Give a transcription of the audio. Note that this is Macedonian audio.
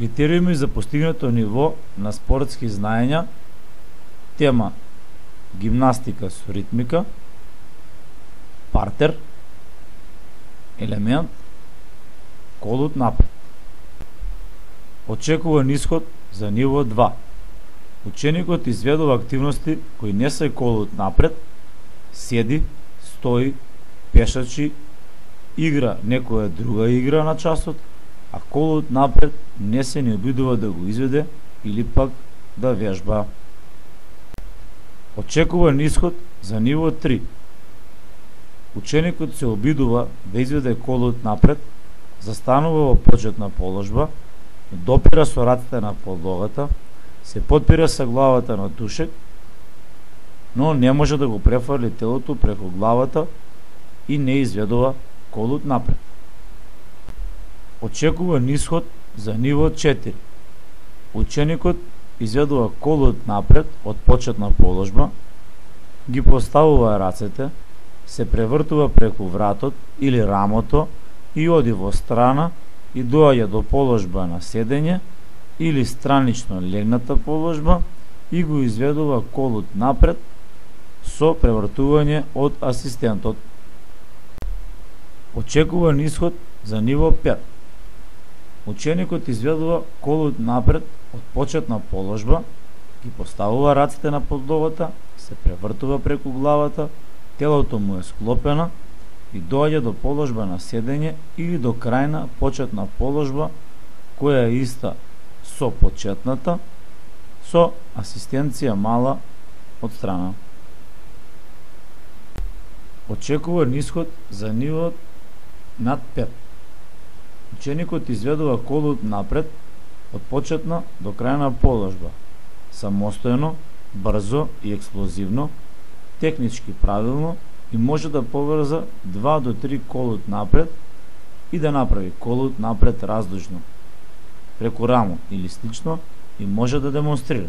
Критериуми за постигнато ниво на спортски знаења. Тема: гимнастика со ритмика. Партер. Елемент: колут напред. Очекуван исход за ниво 2. Ученикот изведува активности кои не се колут напред, седи, стои, пешачи, игра некоја друга игра на часот, а колут напред не се ни обидува да го изведе или пак да вежба. Очекуван исход за ниво 3. Ученикот се обидува да изведе колут напред, застанува во почетна положба, допира со рацете на подлогата, се подпира со главата на тушек, но не може да го префрли телото преку главата и не изведува колут напред. Очекуван исход за ниво 4. Ученикот изведува колут напред од почетна положба, ги поставува рацете, се превртува преку вратот или рамото и оди во страна и доаѓа до положба на седење или странично легната положба и го изведува колут напред со превртување од асистентот. Очекуван исход за ниво 5. Ученикот изведува колут напред од почетна положба, ги поставува рацете на подлогата, се превртува преку главата, телото му е склопено и доаѓа до положба на седење или до крајна почетна положба која е иста со почетната, со асистенција мала од страна. Очекуван исход за ниво над 5. Ученикот изведува колут напред од почетна до крајна положба, самостојно, брзо и експлозивно, технички правилно и може да поврза 2 до 3 колут напред и да направи колут напред раздужно, преку рамо или слично и може да демонстрира.